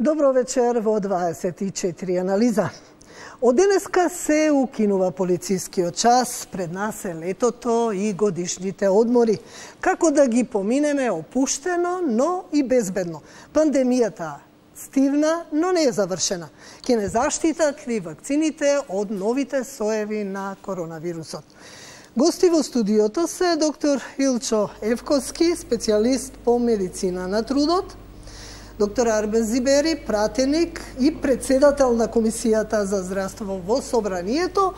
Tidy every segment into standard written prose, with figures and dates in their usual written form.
Добро вечер во 24 анализа. Од денеска се укинува полицискиот час, пред нас е летото и годишните одмори. Како да ги поминеме опуштено, но и безбедно. Пандемијата стивна, но не е завршена. Ке не заштитат ли вакцините од новите соеви на коронавирусот? Гости во студиото се доктор Илчо Евковски, специјалист по медицина на трудот, доктор Арбен Зибери, пратеник и председател на Комисијата за здравство во Собранието,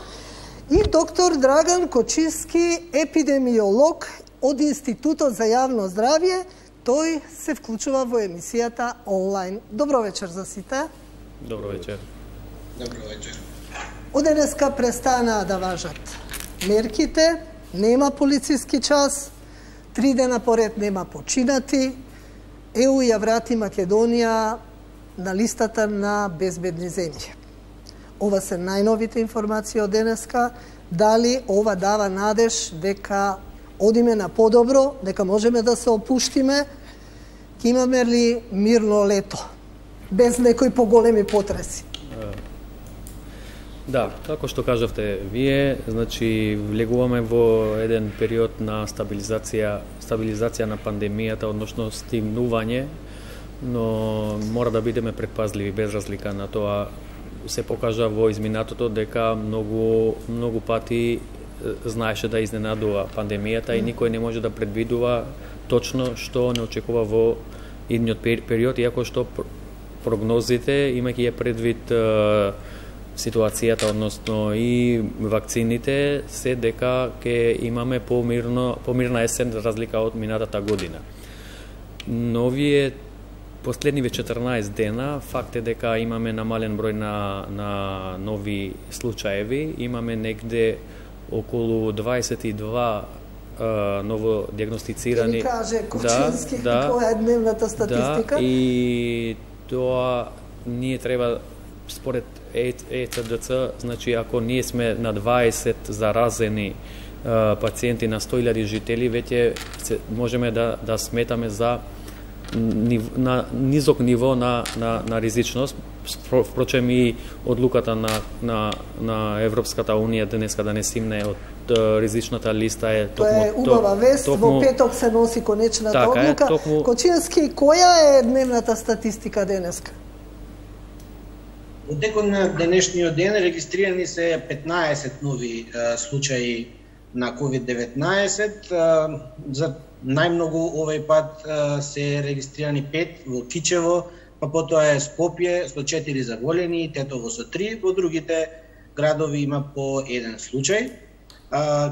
и доктор Драган Кочиски, епидемиолог од Институтот за јавно здравје. Тој се вклучува во емисијата онлайн. Добро вечер за сите. Добро вечер. Добро вечер. Од денеска престанаа да важат мерките, нема полициски час, 3 дена поред нема починати. ЕУ ја врати Македонија на листата на безбедни земји. Ова се најновите информации од денеска. Дали ова дава надеж дека одиме на подобро, дека можеме да се опуштиме, ќе имаме ли мирно лето, без некои поголеми потреси? Да, како што кажавте вие, значи влегуваме во еден период на стабилизација на пандемијата, односно стигнување, но мора да бидеме предпазливи без разлика на тоа. Се покажа во изминатото дека многу пати знаеше да изненадува пандемијата и никој не може да предвидува точно што не очекува во идниот период, иако што прогнозите, имајќи ја предвид ситуацијата, односно и вакцините, се дека ќе имаме помирна есен за разлика од минатата година. Но овие последниве 14 дена, факт е дека имаме намален број на нови случаеви, имаме негде околу 22 ново диагностицирани. Ке ни каже Кочински која е дневната статистика? Да, и тоа ние треба според ЕЦДЦ, значи ако ние сме на 20 заразени пациенти на 100.000 жители, веќе можеме да сметаме за низок ниво на ризичност. Впрочем и одлуката на Европската Унија денеска да не стимне од ризичната листа е токму... Тоа е убава вест, во петок се носи конечната одлука. Кочински, која е дневната статистика денеска? Во текот на денешниот ден регистрирани се 15 нови случаи на COVID-19. За најмногу овој пат се регистрирани 5 во Кичево, па потоа е Скопје со 4 заболени, Тетово со 3, во другите градови има по 1 случај.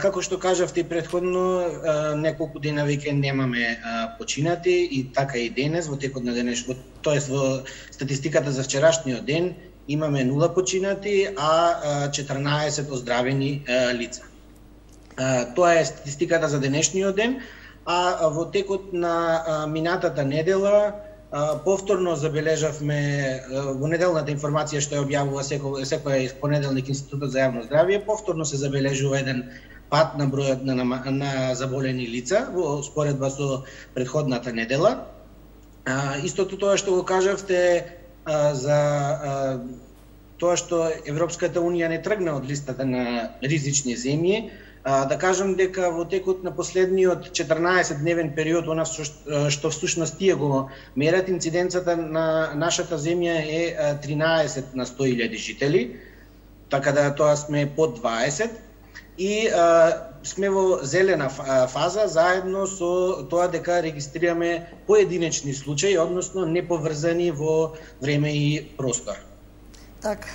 Како што кажавте и претходно, неколку дена веќе немаме починати и така и денес во текот на денешниот, тоест во статистиката за вчерашниот ден имаме 0 починати, а 14 оздравени лица. Тоа е статистиката за денешниот ден, а во текот на минатата недела повторно забележавме во неделната информација што ја објавува секој понеделник Институтот за јавно здравје, повторно се забележува еден пат на бројот на заболени лица во споредба со претходната недела. Истото тоа што го кажавте за тоа што Европската Унија не тргна од листата на ризични земји, да кажам дека во текот на последниот 14-дневен период, она што всушност тие го мерат, инциденцата на нашата земја е 13 на 100.000 жители, така да тоа сме под 20 и сме во зелена фаза заедно со тоа дека регистрираме поединечни случаи, односно неповрзани во време и простор. Така.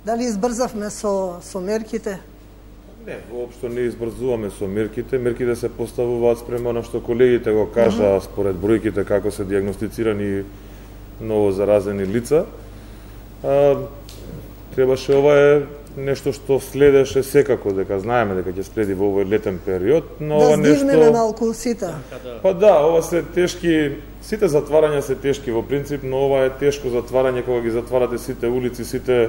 Дали избрзавме со мерките? Не, воопшто не избрзуваме со мерките. Мерките се поставуваат спрема на што колегите го кажа според бројките како се диагностицирани ново заразени лица. Требаше, ова е нешто што следеше секако, дека знаеме дека ќе следи во овој летен период, но ова нешто... Да здивнеме малку сите. Па да, ова се тешки, сите затварања се тешки во принцип, но ова е тешко затварање кога ги затварате сите улици, сите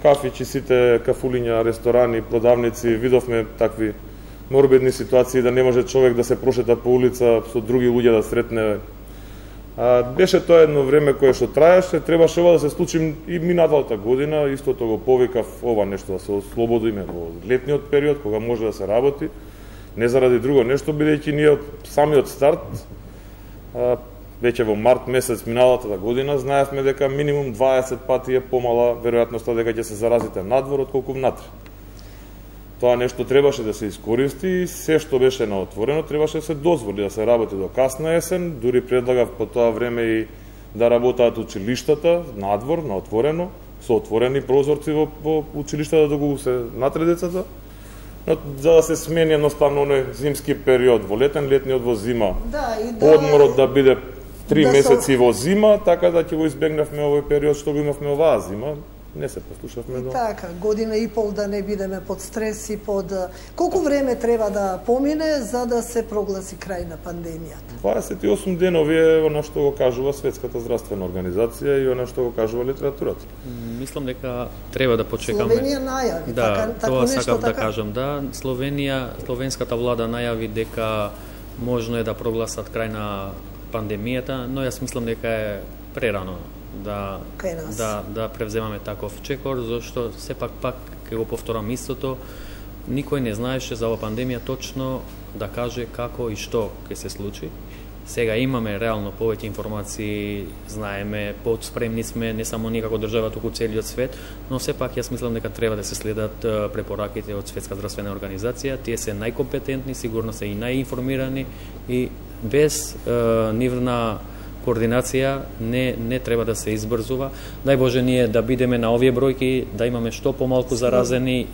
кафичи, сите кафулиња, ресторани, продавници. Видовме такви морбидни ситуации да не може човек да се прошета по улица со други луѓе да сретне Беше тоа едно време кое што траеше, требаше ова да се случи и минатата година, истото го повикав ова нешто да се ослободиме во летниот период, кога може да се работи, не заради друго нешто, бидејќи ние од самиот старт, веќе во март месец миналата година, знаевме дека минимум 20 пати е помала веројатноста дека ќе се заразите надвор отколку внатре. Тоа нешто требаше да се искористи и се што беше на отворено требаше да се дозволи да се работи до касна есен, дури предлагав по тоа време и да работаат училиштата надвор, на отворено, со отворени прозорци во училиштата доколку се натре децата, но за да се смени едноставно оној зимски период во летниот во зима, одморот да биде 3 месеци во зима, така да ќе го избегнавме овој период што го имавме оваа зима. Не се послушавме. И така, година и пол да не бидеме под стрес и под... Колку време треба да помине за да се прогласи крај на пандемијата? 28 денови е она што го кажува Светската здравствена организација и она што го кажува литературата. Мислам дека треба да почекаме. Словенија најави, да, тоа сакав да кажам. Да, словенската влада најави дека можно е да прогласат крај на пандемијата, но јас мислам дека е прерано да превземаме таков чекор, зашто сепак ќе го повторам истото, никој не знаеше за оваа пандемија точно да каже како и што ќе се случи. Сега имаме реално повеќе информации, знаеме, подспремни сме, не само ние како држава, туку целиот свет, но сепак јас мислам дека треба да се следат препораките од Светска здравствена организација. Тие се најкомпетентни, сигурно се и најинформирани и без нивна координација не треба да се избрзува. Дај Боже ние да бидеме на овие бројки, да имаме што помалку заразени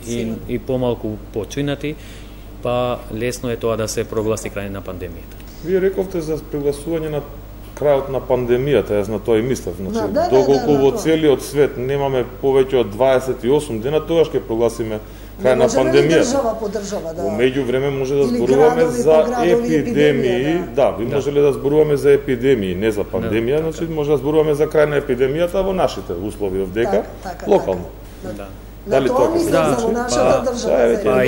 и помалку починати, па лесно е тоа да се прогласи крај на пандемијата. Вие рековте за прогласување на крајот на пандемијата, јас на тоа и мислев. Значи, доколку во целиот свет немаме повеќе од 28 дена, тогаш ќе прогласиме крај на пандемијата. Држава по држава, да. Во меѓувреме може да зборуваме за епидемии, да, би можеле да зборуваме за епидемии, не за пандемија, значи може да зборуваме за крај на епидемијата во нашите услови овдека, локално. Дали тоа мислам за нашата држава. Па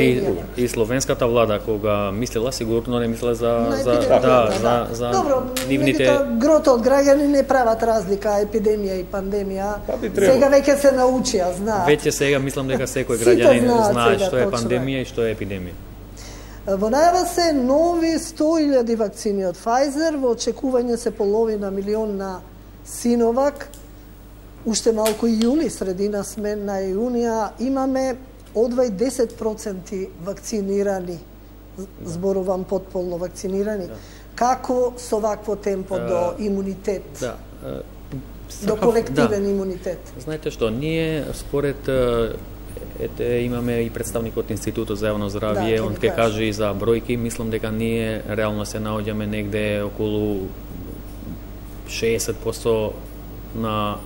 и словенската влада кога мислела, сигурно не мислела за Добро, нивните... Грото од граѓани не прават разлика епидемија и пандемија. Сега веќе се научија, знаат. Веќе сега мислам дека секој граѓанин знае што е пандемија и што е епидемија. Во најава се нови 100.000 вакцини од Pfizer, во очекување се половина милион на Sinovac. Уште малку и јули, средина сме на јунија, имаме одвај 10% вакцинирани, зборувам потполно вакцинирани. Како со вакво темпо до имунитет? До колективен имунитет? Знаете што, ние според имаме и представник од Институтот за јавно здравје, он ќе каже и за бројки, мислам дека ние реално се наоѓаме негде околу 60% на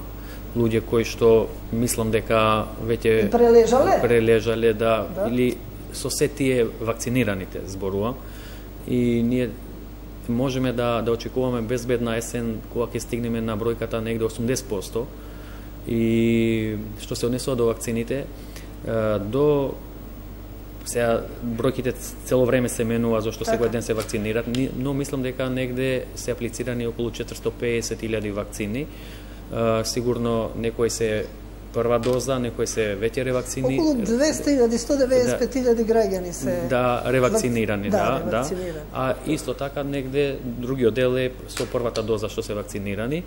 луѓе кои што мислам дека веќе прележале или со се тие вакцинираните зборувам и ние можеме да очекуваме безбедна есен кога ќе стигнеме на бројката негде 80%. И што се однесува до вакцините, до сега бројките цело време се менува зашто секој ден се вакцинират, но мислам дека негде се аплицирани околу 450.000 вакцини. Сигурно некои се прва доза, некои се веќе ревакцини. Околу 200.000-195.000 граѓани се ревакцинирани, да. А исто така негде другиот дел е со првата доза што се вакцинирани.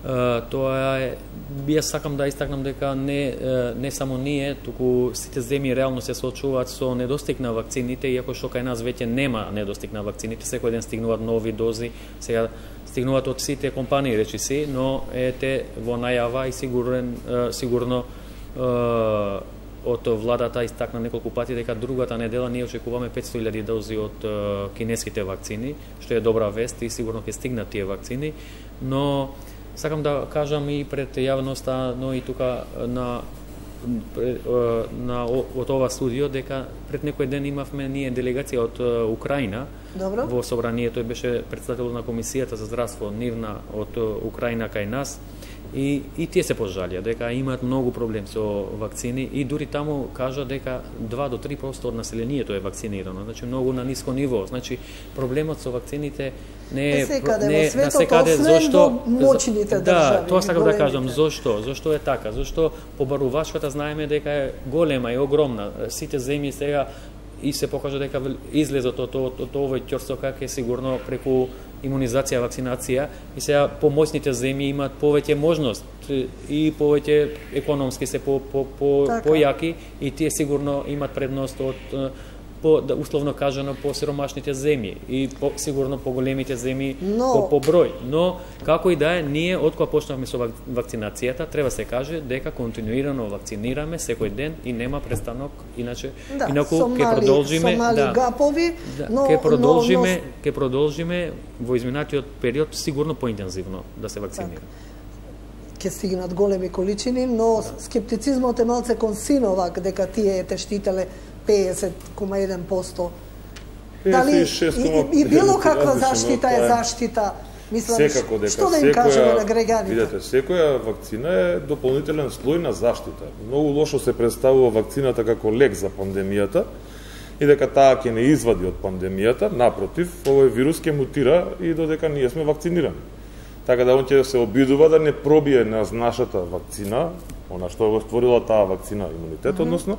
Тоа е, јас сакам да истакнам дека не само ние, туку сите земји реално се соочуваат со недостиг на вакцините, иако што кај нас веќе нема недостиг на вакцините, секој ден стигнуваат нови дози, сега стигнуваат од сите компании, речи си, но ете во најава и сигурно од владата истакна неколку пати дека другата недела ние очекуваме 500.000 дози од кинеските вакцини, што е добра вест и сигурно ќе стигнат тие вакцини, но сакам да кажам и пред јавноста, но и тука од ова студио дека пред некој ден имавме ние делегација од Украина. Добро. Во собранието и беше председател на комисијата за здравство нивна од Украина кај нас и тие се пожалија дека имаат многу проблем со вакцини и дури таму кажа дека 2 до 3% од населението е вакцинирано, значи многу на ниско ниво. Значи проблемот со вакцините секаде во светот, освен во моćните држави. Тоа сакам да кажам, зошто е така? Зошто побарувачката знаеме дека е голема и огромна. Сите земји сега и се покажа дека излезот од овој ќорсокак е сигурно преку имунизација, вакцинација и сега помоćните земји имаат повеќе можност и повеќе економски се појаки и тие сигурно имаат предност од условно кажано по сиромашните земји и сигурно по големите земји по број. Но како и да е, ние откога почнавме со вакцинацијата, треба се каже дека континуирано вакцинираме секој ден и нема престанок, инаку ќе продолжиме, ќе продолжиме во изминатиот период сигурно поинтензивно да се вакцинираме. Ќе стигнат големи количини, но скептицизмот е малце кон синовак дека тие те штителе 50,1%. Дали и било каква заштита е заштита? Мислам, што да им кажеме на граѓаните? Видете, секоја вакцина е дополнителен слој на заштита. Многу лошо се представува вакцината како лек за пандемијата и дека таа ќе не извади од пандемијата, напротив, овој вирус ќе мутира и додека ние сме вакцинирани. Така да он ќе се обидува да не пробие на нашата вакцина, она што го створила таа вакцина имунитет, односно,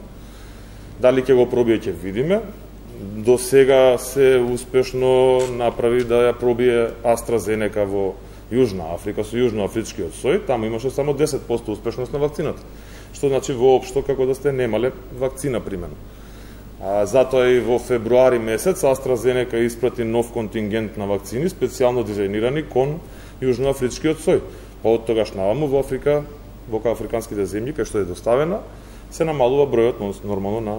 дали ќе го пробие, ќе видиме. До сега се успешно направи да ја пробие AstraZeneca во Јужна Африка со јужноафричкиот сој, таму имаше само 10% успешност на вакцината. Што значи воопшто како да сте немале вакцина примено. Затоа и во февруари месец AstraZeneca испрати нов контингент на вакцини специјално дизајнирани кон јужноафричкиот сој. Па од тогаш наваму во Африка, во африканските земји кај што е доставена, се намалува бројот нормално на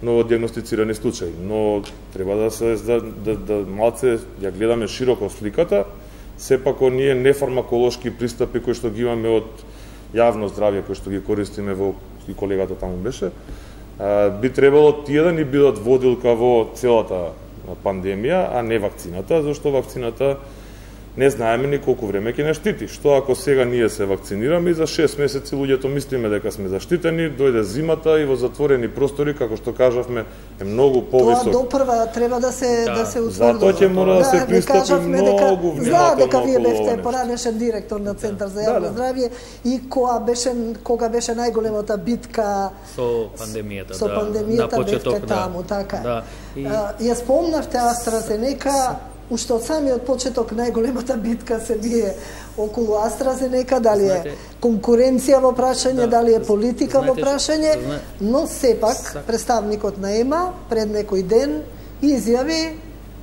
новодиагностицирани случаи, но треба да се да малце ја гледаме широко сликата, сепак оние нефармаколошки пристапи кои што ги имаме од јавно здравје кои што ги користиме во и колегата таму беше, би требало тие да ни бидат водилка во целата пандемија, а не вакцината, зашто вакцината не знаеме ни колку време ќе не штити. Што ако сега ние се вакцинираме и за 6 месеци луѓето мислиме дека сме заштитени, дојде зимата и во затворени простори, како што кажавме, е многу повисок. Тоа допрва треба да се утврди. Затоа ќе мора да се пристапи многу внимателно. Знаат дека вие бевте поранешен директор на Центар за јавно здравје и кога беше најголемата битка со пандемијата, на почеток таму, така. Ја спомнавте AstraZeneca. Уште од самиот почеток најголемата битка се бие околу AstraZeneca, дали е конкуренција во прашање, дали е политика во прашање, но сепак представникот на ЕМА пред некој ден изјави,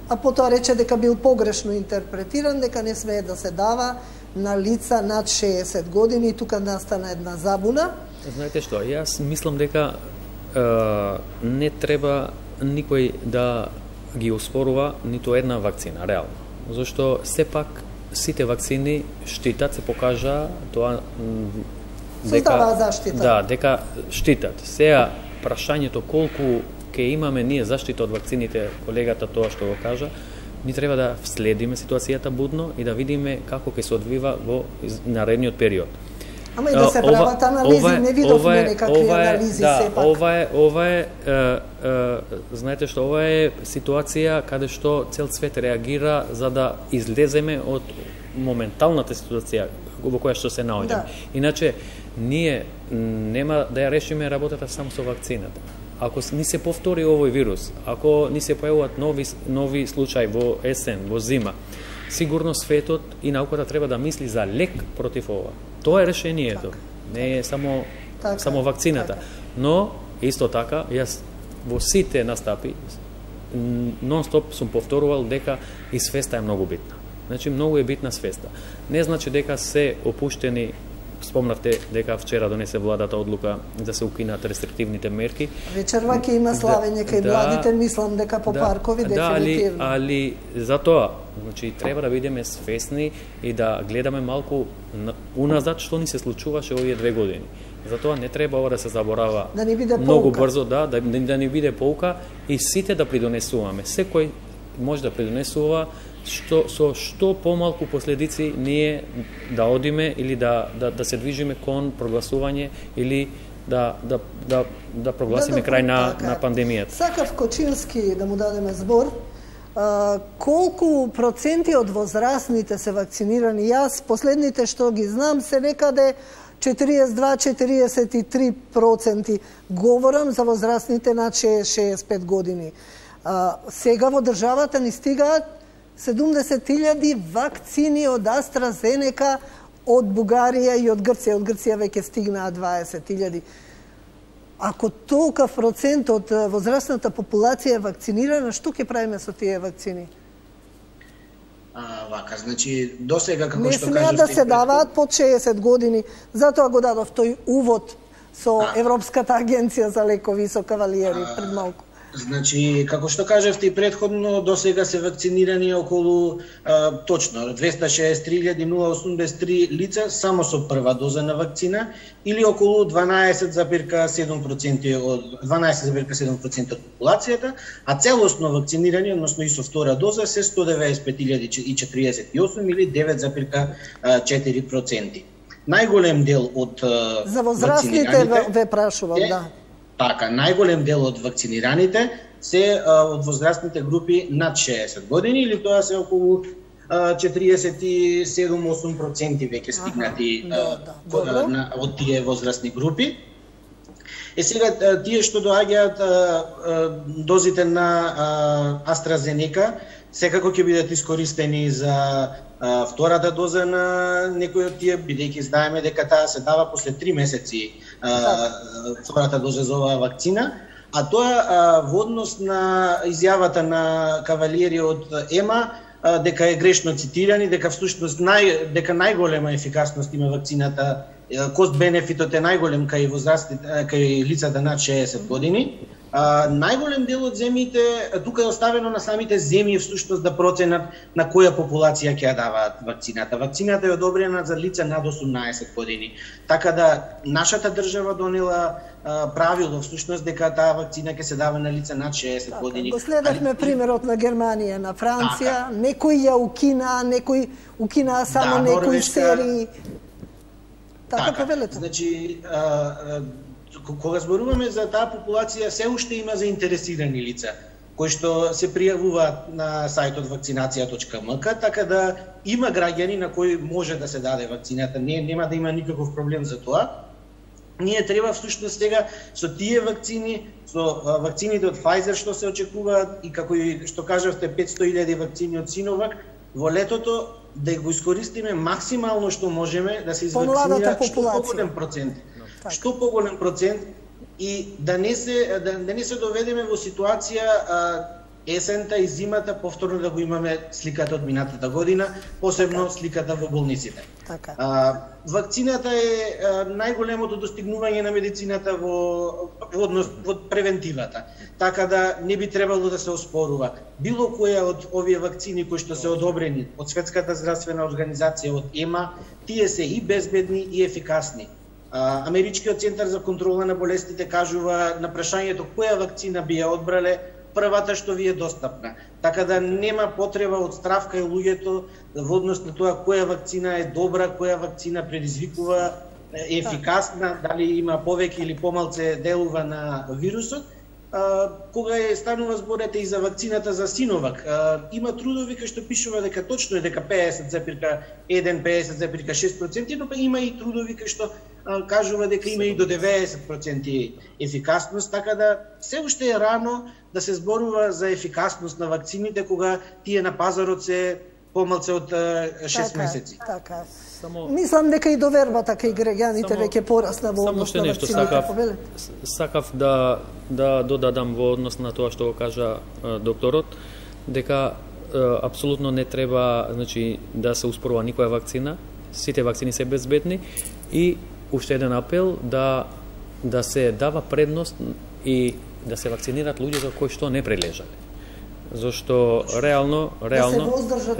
а потоа рече дека бил погрешно интерпретиран, дека не смее да се дава на лица над 60 години и тука настана една забуна. Знаете што, јас мислам дека не треба никој да ги оспорува ниту една вакцина, реално. Зашто сепак сите вакцини штитат, се покажа тоа дека заштита. Да, дека штитат. Сега прашањето колку ќе имаме ние заштита од вакцините, колегата тоа што го кажа, ни треба да следиме ситуацијата будно и да видиме како ќе се одвива во наредниот период. Ама и да се прават анализи, не видовме некакви анализи сепак. Ова е, знаете што, ова е ситуација каде што цел свет реагира за да излеземе од моменталната ситуација во која што се наоѓаме. Иначе, ние нема да ја решиме работата само со вакцината. Ако ни се повтори овој вирус, ако ни се појавуваат нови случаи во есен, во зима, сигурно светот и науката треба да мисли за лек против ова. Тоа е решението. Не е само вакцината. Но, исто така, јас во сите настапи нон-стоп сум повторувал дека и свеста е многу битна. Значи, многу е битна свеста. Не значи дека се опуштени. Спомнавте дека вчера донесе владата одлука да се укинат рестриктивните мерки. Вечерва ќе има славење кај младите, мислам дека по паркови дефинитивно. Али за тоа, значи треба да бидеме свесни и да гледаме малку уназад што ни се случуваше овие 2 години. Затоа не треба ова да се заборава многу брзо, да ни биде поука и сите да придонесуваме. Секој може да придонесува со што помалку последици ние да одиме или да се движиме кон прогласување или да прогласиме крај на пандемијата. Сакав Кочински да му дадеме збор, колку проценти од возрастните се вакцинирани? Јас последните што ги знам се некаде 42-43%. Говорам за возрастните над 65 години. Сега во државата ни стигаат 70.000 вакцини од AstraZeneca од Бугарија и од Грција. Од Грција веќе стигнаат 20.000. Ако толкав процент од возрастната популација е вакцинирана, што ќе правиме со тие вакцини? Вака, значи, досега, како не што кажувате... Не смеа да се даваат под 60 години, затоа го дадов тој увод со Европската агенција за лекови со кавалиери пред малку. Значи, како што кажавте и предходно, досега се вакцинирани околу точно 263.083 лица само со прва доза на вакцина или околу 12,7% од 12,7% од популацијата, а целосно вакцинирани, односно и со втора доза, се 195.048 или 9,4%. Најголем дел од за возрастните ве прашувам, да. Така, најголем дел од вакцинираните се од возрастните групи над 60 години, или тоа се околу 47-8% веќе стигнати од тие возрастни групи. Сега, тие што доаѓаат дозите на AstraZeneca, секако ќе бидат искористени за втората доза на некој од тие, бидејќи знаеме дека таа се дава после 3 месеци втората доза за оваа вакцина, а тоа во однос на изјавата на кавалиери од ЕМА дека е грешно цитирани, дека всушност дека најголема ефикасност има вакцината, кост-бенефитот е најголем кај возрастните, кај лицата над 60 години. Најголем дел од земјите, тука е оставено на самите земји всушност да проценат на која популација ќе ја даваат вакцината. Вакцината е одобрена за лица над 18 години. Така да нашата држава донела правило всушност дека таа вакцина ќе се дава на лица над 60 години. Го следевме примерот на Германија, на Франција, некои ја укина, некои укинаа само некои серии. Така повелете. Значи, кога зборуваме за таа популација, се уште има заинтересирани лица кои што се пријавуваат на сајтот vakcinacija.mk, така да има граѓани на кои може да се даде вакцината, нема да има никаков проблем за тоа. Ние треба всушност сега со тие вакцини, со вакцините од Pfizer што се очекуваат и како и што кажавте 500.000 вакцини од Sinovac, во летото да го искористиме максимално што можеме да се извакцинираат што поголем процент. Што поголем процент и да не се доведеме во ситуација есента и зимата повторно да го имаме сликата од минатата година, посебно сликата во болниците. Вакцината е најголемото достигнување на медицината во превентивата, така да не би требало да се оспорува. Било која од овие вакцини кои што се одобрени од Светската здравствена организација, од ЕМА, тие се и безбедни и ефикасни. Америчкиот центар за контрола на болестите кажува на прашањето која вакцина би ја одбрале, првата што ви е достапна. Така да нема потреба од страв кај луѓето во однос на тоа која вакцина е добра, која вакцина предизвикува ефикасна, дали има повеќе или помалце делува на вирусот. Кога станува зборете и за вакцината за Sinovac, има трудови кои што пишува дека точно е дека 50,1-50,6%, но има и трудови кои што кажува дека има и до 90% ефикасност, така да се уште е рано да се зборува за ефикасност на вакцините кога тие на пазарот се помалце од 6 месеци. Така. Мислам дека и довербата кај граѓаните веќе порасна во однос на вакцините. Сакав да додадам во однос на тоа што го кажа докторот, дека апсолутно не треба, значи, да се успорува никоја вакцина, сите вакцини се безбедни и уште еден апел да се дава предност и да се вакцинираат луѓето кои што не прележале. Зашто реално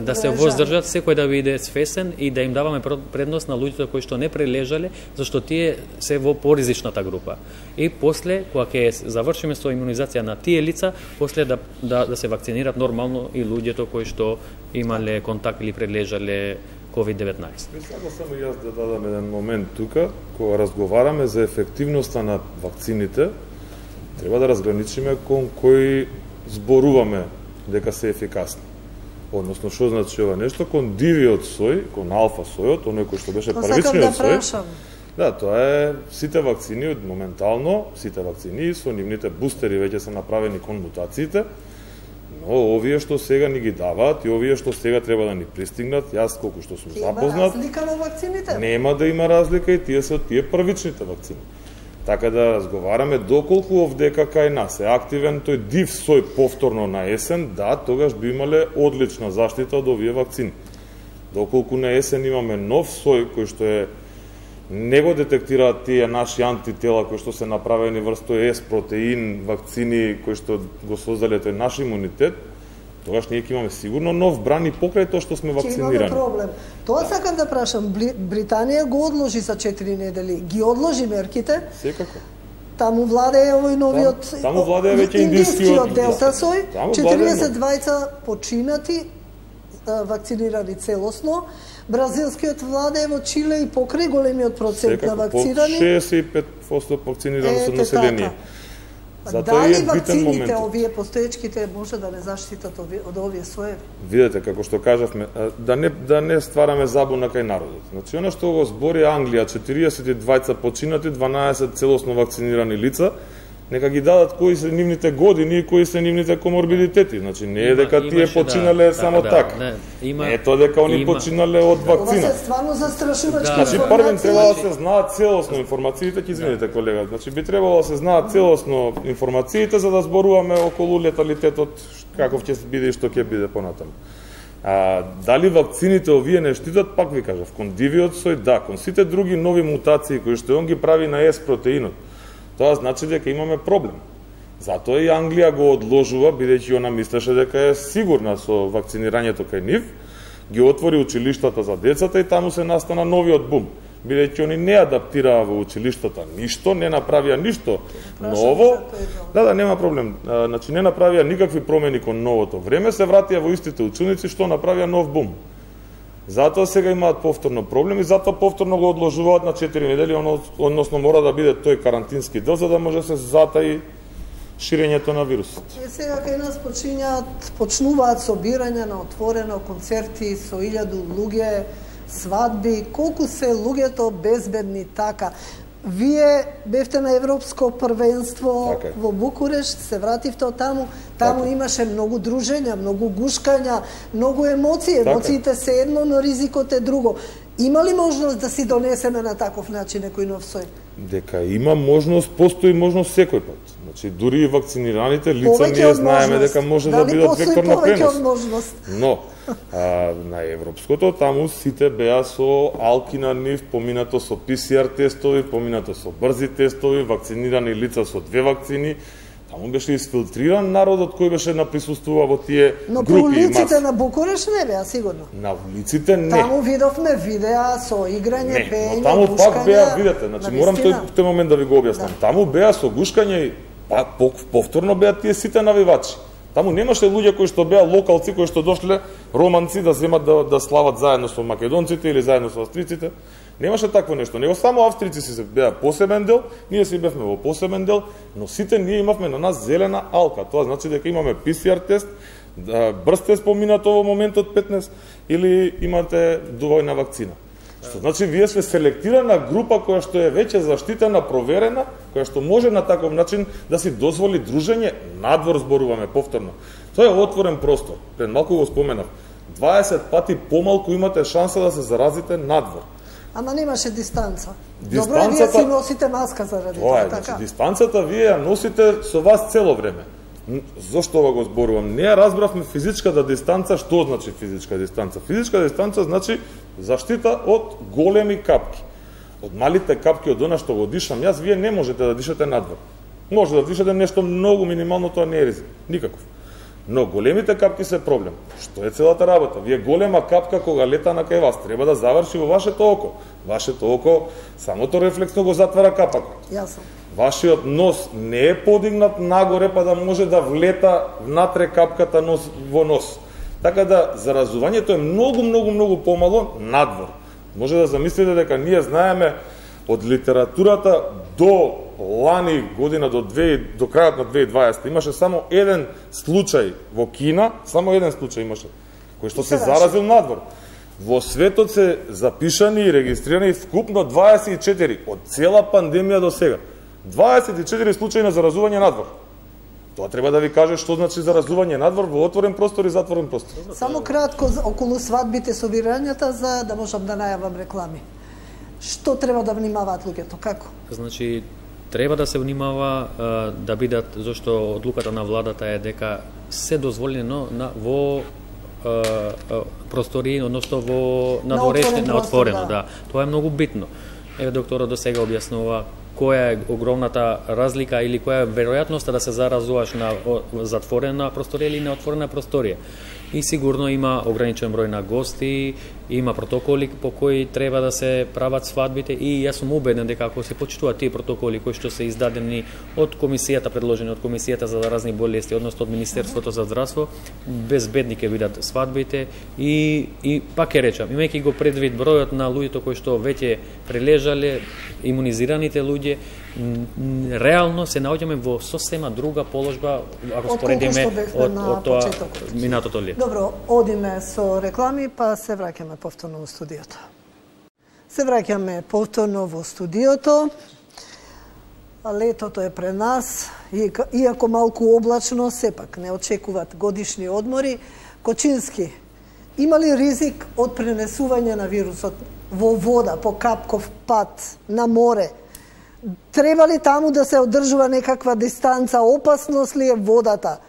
да се воздржат, секој да биде свесен и да им даваме предност на луѓето кои што не прележале, зашто тие се во поризичната група. И после, кога ќе завршиме со имунизација на тие лица, после да се вакцинираат нормално и луѓето кои што имале контакт или прележале COVID-19. Само јас да дадам еден момент тука, кога разговараме за ефективноста на вакцините, треба да разграничиме кон кои зборуваме дека се ефикасни. Односно, што значи ова нешто? Кон дивиот сој, кон алфа сојот, оној кој што беше првичниот сој. Да, тоа е сите вакцини моментално, сите вакцини со нивните бустери веќе се направени кон мутациите, но овие што сега ни ги даваат и овие што сега треба да ни пристигнат, јас колку што сум запознат, има разлика во вакцините? Нема да има разлика и тие се од тие првичните вакцини. Така да разговараме доколку овдека кај нас е активен тој див сој повторно на есен, да, тогаш би имале одлична заштита од овие вакцини. Доколку на есен имаме нов сој кој што е не го детектираат тие наши антитела кои што се направени врз тој S протеин вакцини кои што го создале тој наш имунитет, тогаш ние ќе имаме сигурно нов бран и покрај тоа што сме вакцинирани. Ќе имаме проблем. Тоа сакам да прашам, Британија го одложи за 4 недели. Ги одложи мерките? Секако. Таму владее овој новиот таму владее веќе индискиот делта сој, 42 починати вакцинирани целосно. Бразилскиот владее во Чиле и покрај големиот процент на вакцинирани. 65% вакцинирано со население. Дали вакцините, овие постоечките, може да не заштитат од овие соеви? Видете, како што кажавме, да не ствараме забуна кај народот. Значи, она што го збори Англија, 42 починати, 12 целосно вакцинирани лица, нека ги дадат кои се нивните години и кои се нивните коморбидитети. Значи, не е дека тие починале само така. Не е тоа дека они починале од вакцина. Ова се стварно застрашувачки информации. Значи, првим треба да се знаат целосно информациите, ќе извините колега, значи би требало да се знаат целосно информациите за да зборуваме околу леталитетот, каков ќе биде и што ќе биде понатаму. Дали вакцините овие не штитат, пак ви кажав, кон дивиот сој, да, кон сите други нови мутации кои што он ги прави на S протеинот, тоа значи дека имаме проблем. Затоа и Англија го одложува, бидејќи она мислеше дека е сигурна со вакцинирањето кај нив, ги отвори училиштата за децата и таму се настана новиот бум. Бидејќи они не адаптираа во училиштата ништо, не направија ништо ново. Да, нема проблем. Значи не направија никакви промени кон новото време, се вратија во истите ученици што направија нов бум. Затоа сега имаат повторно проблем и затоа повторно го одложуваат на 4 недели, односно мора да биде тој карантински дел за да може се затаи ширењето на вирусот. Сега кај нас почнуваат собирања на отворено, концерти со 1000 луѓе, свадби, колку се луѓето безбедни така. Вие бевте на Европско првенство во Букурешт, се вративте од таму, имаше многу дружења, многу гушкања, многу емоции, емоциите се едно, но ризикот е друго. Има ли можност да си донесеме на таков начин некој нов сој? Дека има можност, постои можност секој пат. Значи, дури и вакцинираните лица ние знаеме дека може да бидат вектор на пренос. Но, на Европското, таму сите беа со алки на нив, поминато со PCR тестови, поминато со брзи тестови, вакцинирани лица со 2 вакцини. Таму беше изфилтриран народот кој беше присуствува во тие групи. Но по улиците на Букуреш не беа, сигурно. На улиците не. Таму видовме видеа со играње, пеење, но таму пак беа, видете, значи морам тој момент да ви го објаснам. Таму беа со гушкање и повторно беа тие сите навивачи. Таму немаше луѓе кои што беа локалци, кои што дошле романци да земат да слават заедно со македонците или заедно со австриците. Немаше такво нешто. Него само австрици си беа посебен дел, ние си бевме во посебен дел, но сите ние имавме на нас зелена алка. Тоа значи дека имаме PCR тест, брз тест поминато во моментот 15 или имате доволна вакцина. Што значи вие сте селектирана група која што е веќе заштитена, проверена, која што може на таков начин да си дозволи дружење, надвор зборуваме повторно. Тоа е отворен простор. Пред малку го споменав. 20 пати помалку имате шанса да се заразите надвор. Ама немаше дистанца. Добро е вие си носите маска заради тоа, така. Значи, дистанцата вие ја носите со вас цело време. Зошто ова го зборувам? Не ја разбравме физичката дистанца, што значи физичка дистанца? Физичка дистанца значи заштита од големи капки. Од малите капки, од она што го дишам јас, вие не можете да дишате надвор. Може да дишате нешто многу минимално, тоа не е ризик. Никаков. Но големите капки се проблем. Што е целата работа? Вие голема капка кога лета на кај вас треба да заврши во вашето око. Вашето око самото рефлексно го затвара капакот. Јасно. Вашиот нос не е подигнат нагоре па да може да влета внатре капката нос во нос. Така да заразувањето е многу помало надвор. Може да замислите дека ние знаеме од литературата до лани година до крајот на 2020 имаше само еден случај во Кина, само еден случај имаше, кој што се заразил надвор. Во светот се запишани и регистрирани вкупно 24 од цела пандемија до сега. 24 случаи на заразување надвор. Тоа треба да ви каже што значи заразување надвор во отворен простор и затворен простор. Само кратко околу свадбите, собирањата, за да можам да најавам реклами. Што треба да внимаваат луѓето, како? Значи, треба да се внимава да бидат, зашто одлуката на владата е дека се дозволено во простори, односно во надворешни, на отворено, да. Тоа е многу битно. Еве докторот до сега објаснува која е огромната разлика или која е веројатноста да се заразуваш на затворена просторија или на отворена просторија. И сигурно има ограничен број на гости, има протоколи по кои треба да се прават свадбите и јас сум убеден дека ако се почитуваат тие протоколи кои што се издадени од комисијата, предложени од комисијата за заразни болести, односно од Министерството за здравство, безбедни ќе бидат свадбите и пак ќе речам, имајќи го предвид бројот на луѓето кои што веќе прележале, имунизираните луѓе, реално се наоѓаме во сосема друга положба ако споредиме од тоа минатото лето. Добро, одиме со реклами, па се враќаме повторно во студиото. Се враќаме повторно во студиото. Летото е пред нас, иако малку облачно, сепак не очекуваат годишни одмори. Кочински, има ли ризик од пренесување на вирусот во вода, по капков пат, на море? Треба ли таму да се одржува некаква дистанца? Опасност ли е водата?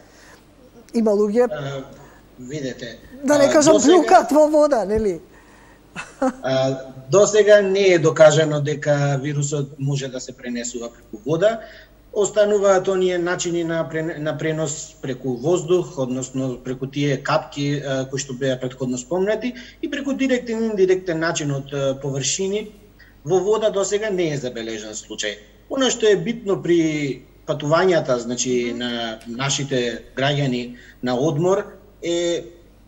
Има луѓе... Видете... Да не кажам плюкат во вода, нели? До сега не е докажано дека вирусот може да се пренесува преку вода. Остануваат оние начини на пренос преку воздух, односно преку тие капки кои што беа претходно спомнати и преку директен и индиректен начин од површини. Во вода до сега не е забележан случај. Оно што е битно при патувањата, значи на нашите граѓани на одмор е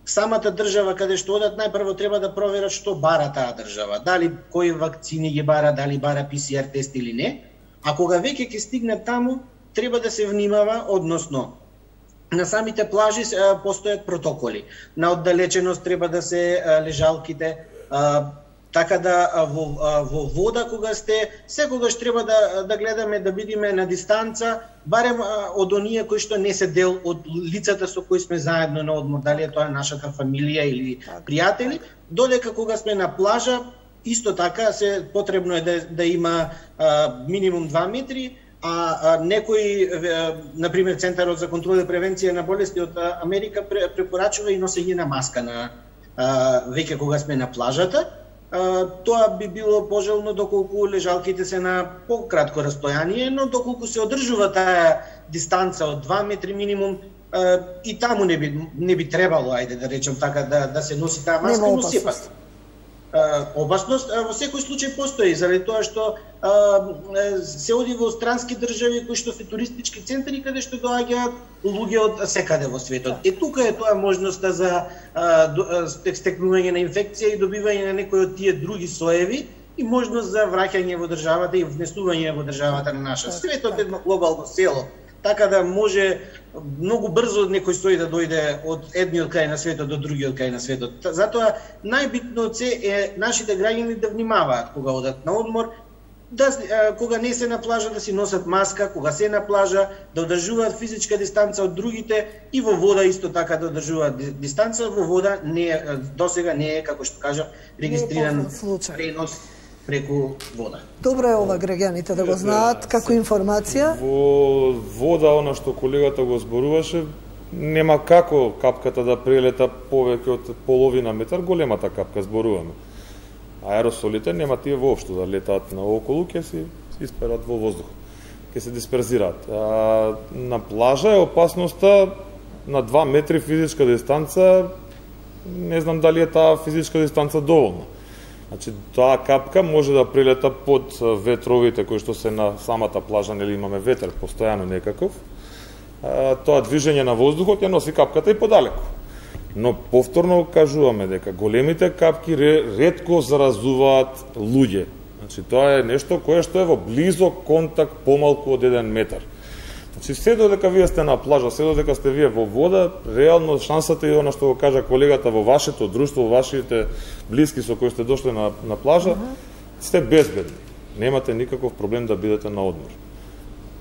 самата држава каде што одат, најпрво треба да проверат што бара таа држава. Дали кои вакцини ги бара, дали бара ПСР тест или не. А кога веќе ќе стигнат таму, треба да се внимава, односно на самите плажи постојат протоколи. На оддалеченост треба да се лежалките, така да во вода кога сте, секогаш треба да гледаме да бидеме на дистанца, барем од оние кои што не се дел од лицата со кои сме заедно на одмор, дали е тоа нашата фамилија или пријатели, додека кога сме на плажа, исто така потребно е да има минимум 2 метри, а некои, например, Центарот за контрола и превенција на болести од Америка препорачува и носење на маска на веќе кога сме на плажата. Тоа би било пожелно доколку лежалките се на пократко растојание, но доколку се одржува таа дистанца од 2 метри минимум, и таму не би требало, ајде да речем така, да се носи таа маска, но сепак. Опасност во секој случај постои, заради тоа што се оди во странски држави кои што се туристички центри каде што доаѓаат луѓе од секаде во светот. Тука е тоа можноста за стекнување на инфекција и добивање на некои од тие други соеви и можност за враќање во државата и внесување во државата на наша. Светот е едно глобално село, така да може многу брзо некој сој да дојде од едниот крај на светот до другиот крај на светот. Затоа најбитно од се е нашите граѓани да внимаваат кога одат на одмор, кога не се на плажа да си носат маска, кога се на плажа да одржуваат физичка дистанца од другите и во вода исто така да одржуваат дистанца. Во вода досега не е, како што кажав, регистриран пренос преку вода. Добро е ова граѓаните да го знаат како информација. Во вода, она што колегата го зборуваше, нема како капката да прелета повеќе од половина метар, големата капка зборуваме. Аеросолите нема тие воопшто да летаат наоколу, ќе се исперат во воздухот, ќе се дисперзираат. На плажа е опасноста на 2 метри физичка дистанца, не знам дали е таа физичка дистанца доволна. Значи, таа капка може да прилета под ветровите кои што се на самата плажа, нели имаме ветер постојано некаков. Тоа движење на воздухот ја носи капката и подалеку. Но повторно кажуваме дека големите капки ретко заразуваат луѓе. Значи тоа е нешто кое што е во близок контакт помалку од 1 метар. Значи се додека вие сте на плажа, се додека сте вие во вода, реално шансата и она што го кажа колегата во вашето друштво, во вашите блиски со кои сте дошли на плажа, сте безбедни. Немате никаков проблем да бидете на одмор.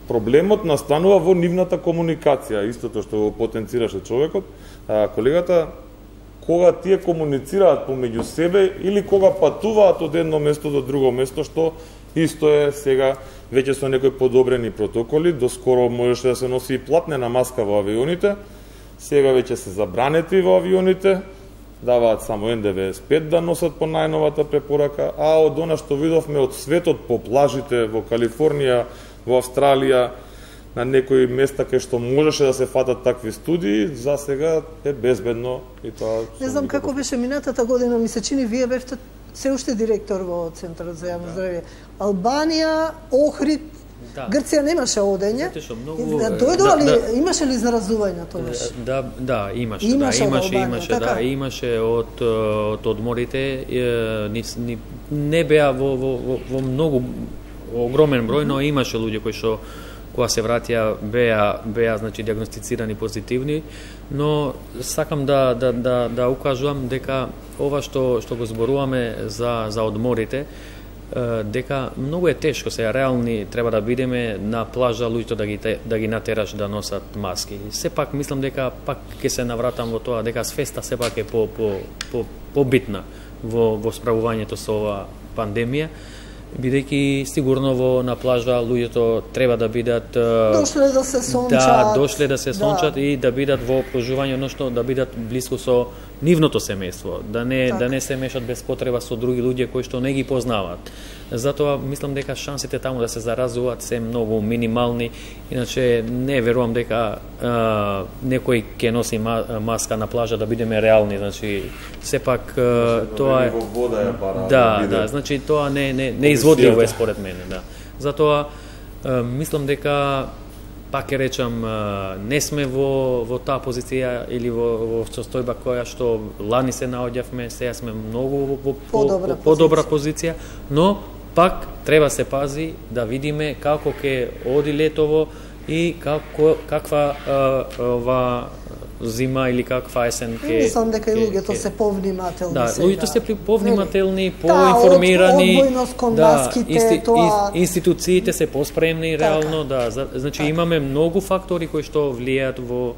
Проблемот настанува во нивната комуникација, истото што го потенцираше човекот. Колегата, кога тие комуницираат помеѓу себе или кога патуваат од едно место до друго место, што исто е сега веќе со некои подобрени протоколи, доскоро можеше да се носи и платнена маска во авионите, сега веќе се забранети во авионите, даваат само N95 да носат по најновата препорака, а од она што видовме од светот по плажите во Калифорнија, во Австралија, на некои места кај што можеше да се фатат такви студии, за сега е безбедно и тоа. Не знам како беше минатата година, ми се чини вие бевте се уште директор во Центарот за јавно здравје. Албанија, Охрид, Грција немаше одење. Дојдоа ли, имаше ли заразување тогаш? Да, имаше. Имаше од одморите, не беа во многу огромен број, но имаше луѓе кои што кога се вратија беа значи диагностицирани позитивни, но сакам да укажувам дека ова што го зборуваме за одморите, дека многу е тешко, сега реални треба да бидеме на плажа луѓето да ги натераш да носат маски. Сепак мислам дека пак ќе се навратам во тоа дека свеста сепак е побитна во справувањето со ова пандемија, бидејќи сигурно на плажа луѓето треба да бидат дошле да се сончат и да бидат во обкружување, односно да бидат блиску со нивното семејство, да не се мешат без потреба со други луѓе кои што не ги познаваат. Затоа мислам дека шансите таму да се заразуваат се многу минимални, иначе не верувам дека некој ќе носи маска на плажа, да бидеме реални, значи сепак тоа е во вода е бара. Да, значи тоа не изводливо е според мене, да. Затоа мислам дека пак ќе речам, не сме во таа позиција или во состојба која што лани се наоѓавме, сега сме многу во подобра позиција, но пак треба се пази да видиме како ќе оди летово и каква ова зима или каква есен ќе. Мислам дека и луѓето се повнимателни. Да, луѓето се повнимателни, поинформирани. Одбојност кон маските, тоа. Институциите се поспремни реално, да. Значи имаме многу фактори кои што влијаат во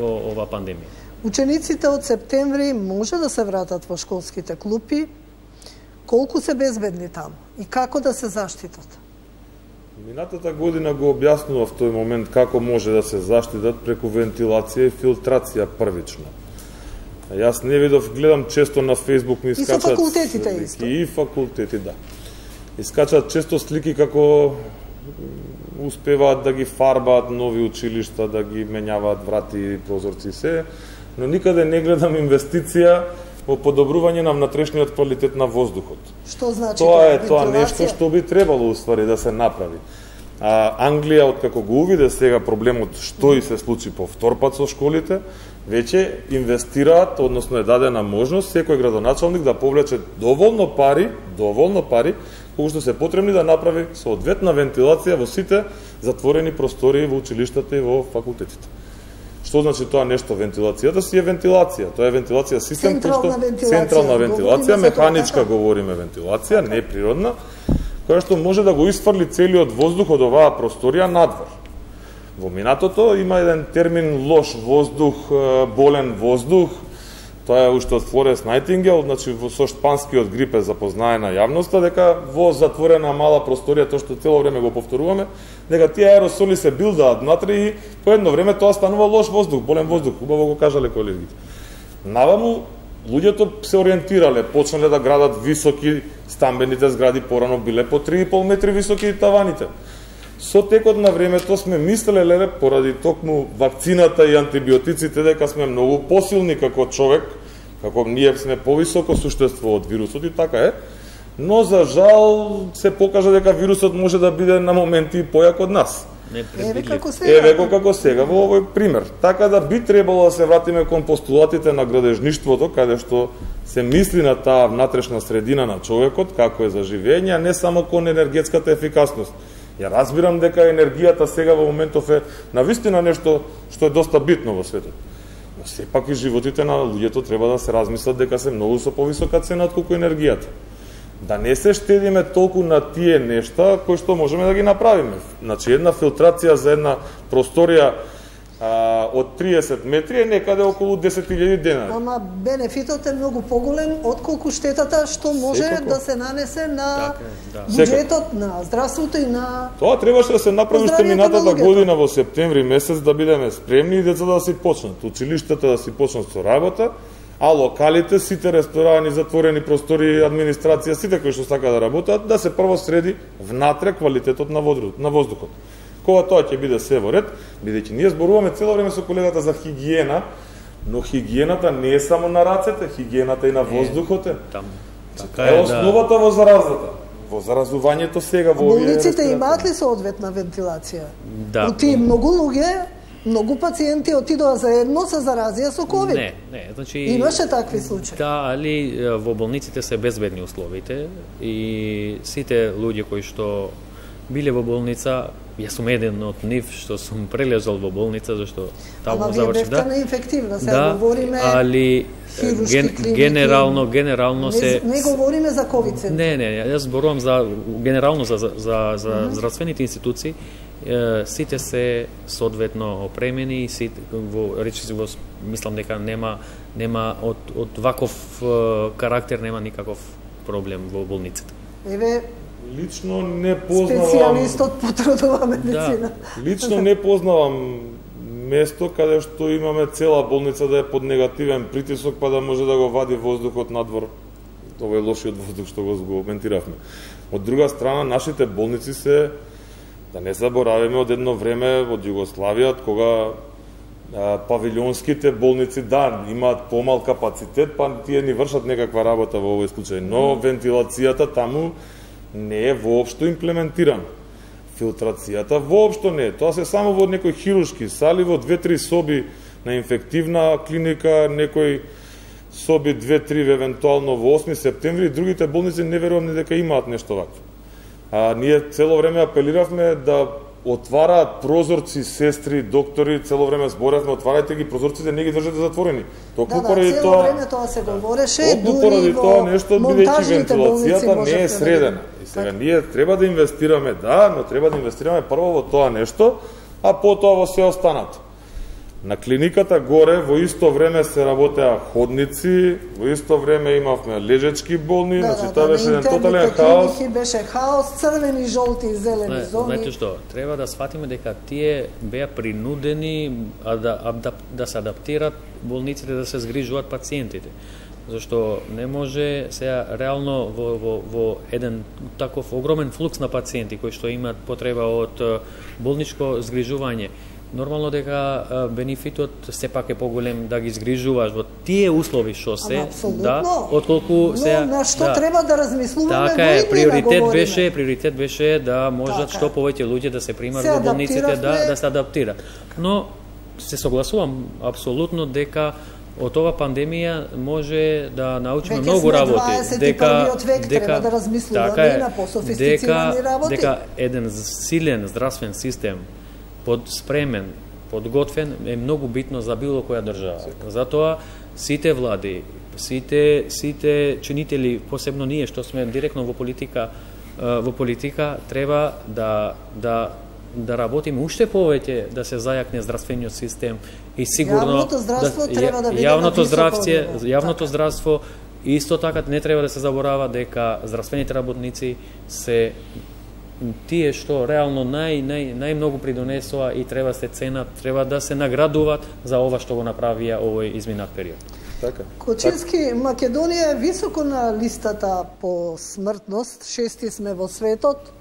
ова пандемија. Учениците од септември може да се вратат во школските клупи. Колку се безбедни таму и како да се заштитат? Минатата година го објаснував тој момент како може да се заштитат преку вентилација и филтрација првично. Јас не видов, гледам често на Facebook ми искачат... И со факултетите исто. И факултети, да. Искачат често слики како успеваат да ги фарбаат нови училишта, да ги менјаваат врати и прозорци се, но никаде не гледам инвестиција во подобрување на внатрешниот квалитет на воздухот. Што значи тоа нешто што би требало уствари да се направи. Англија, откако го увиде сега проблемот што и се случи по втор пат со школите, веќе инвестираат, односно е дадена можност секој градоначалник да повлече доволно пари, колку што се потребни да направи соодветна вентилација во сите затворени простории во училиштата и во факултетите. Што значи тоа нешто? Вентилацијата си е вентилација. Тоа е вентилација систем, централна вентилација, механичка говориме вентилација, не природна, која што може да го исфрли целиот воздух од оваа просторија надвор. Во минатото има еден термин лош воздух, болен воздух. Тоа е уште од Флоренс Најтингел, значи со шпанскиот грип е запознаена јавноста дека во затворена мала просторија, тоа што цело време го повторуваме, дека тие аеросоли се билдаат внатре и по едно време тоа станува лош воздух, болен воздух, убаво го кажале колегите. Наваму луѓето се ориентирале, почнале да градат високи стамбените згради, порано биле по 3,5 метри високи таваните. Со текот на времето сме мислеле, поради токму вакцината и антибиотиците, дека сме многу посилни како човек, како ние сме повисоко суштество од вирусот и така е, но за жал се покажа дека вирусот може да биде на моменти појак од нас. Еве како сега во овој пример. Така да би требало да се вратиме кон постулатите на градежништвото, каде што се мисли на таа внатрешна средина на човекот, како е за живење, а не само кон енергетската ефикасност. Ја разбирам дека енергијата сега во моментов е навистина нешто што е доста битно во светот. Но сепак и животите на луѓето треба да се размислат дека се многу со повисока цена отколку енергијата. Да не се штедиме толку на тие нешта кои што можеме да ги направиме. Значи една филтрација за една просторија од 30 метри е некаде околу 10.000 денари. Ама бенефитот е многу поголем отколку штетата што може да се нанесе на буџетот, на здравството и на... Тоа требаше да се направи уште минатата година во септември месец да бидеме спремни и децата да си почнат, училиштата да си почнат со работа, а локалите, сите ресторани, затворени простори, администрација, сите кои што сака да работат, да се прво среди внатре квалитетот на воздухот. Кога тоа ќе биде се во ред, бидејќи ние зборуваме цело време со колегата за хигиена, но хигиената не е само на рацете, хигиената и на воздухот е. Така е основата во заразата. Во заразувањето сега во овие болниците имаат ли соодветна вентилација? Да. Оти многу луѓе, многу пациенти отидоа заедно се заразија со ковид. Не, значи имаше такви случаи. Да, али во болниците се безбедни условите и сите луѓе кои што биле во болница, јас сум еден од нив што сум прележал во болница зашто таму завршив, да. Ама вие бевте неинфективна, сега говориме али генерално се не говориме за ковид центар. Не, јас зборувам за генерално за здравствените институции, сите се соодветно опремени и сите во мислам дека нема од ваков карактер нема никаков проблем во болниците. Еве лично не познавам специјалистот по трудова медицина. Да, лично не познавам место каде што имаме цела болница да е под негативен притисок па да може да го вади воздухот надвор, овој лошиот воздух што го коментиравме. Од друга страна, нашите болници се, да не заборавиме, од едно време од Југославија, кога павилионските болници, да, имаат помал капацитет, па тие ни вршат некаква работа во овој случај, но вентилацијата таму не е воопшто имплементирана. Филтрацијата воопшто не е. Тоа се само во некои хируршки сали, во 2-3 соби на инфективна клиника, некои соби 2-3 евентуално во 8 септември, другите болници не верувам дека имаат нешто вакво. Ние цело време апелиравме да отвараат прозорци сестри, доктори, цело време зборевме, отварајте ги прозорците, не ги држате затворени. Токму поради тоа, време тоа се говореше, дури во монтажните вентилацијата не е средена. И сега ние треба да инвестираме, да, но треба да инвестираме прво во тоа нешто, а потоа во се останато. На клиниката горе во исто време се работеа ходници, во исто време имавме лежечки болни, значи тоа беше еден тотален хаос. Беше хаос, црвени, жолти и зелени зони. Знаете што, треба да сфатиме дека тие беа принудени да се адаптират болниците да се згрижуваат пациентите. Зашто не може сега реално во еден таков огромен флукс на пациенти кои што имаат потреба од болничко згрижување. Нормално дека бенефитот сепак е поголем да ги згрижуваш во тие услови што се, да, отколку се на што треба да размислуваме. Така е, приоритет беше да можат што повеќе луѓе да се примат во болниците, да се адаптираат. Но се согласувам апсолутно дека од ова пандемија може да научиме многу работи, дека треба да размислуваме на пософистицирани работи. Дека еден силен здравствен систем подспремен, подготвен е многу битно за било која држава. Затоа сите влади, сите чинители, посебно ние што сме директно во политика треба да работиме уште повеќе да се зајакне здравствениот систем и сигурно јавното здравство исто така не треба да се заборава дека здравствените работници се тие што реално најмногу придонесоа и треба се ценат, треба да се наградуваат за ова што го направија овој изминат период. Така. Кочински, Македонија е високо на листата по смртност, 6 сме во светот.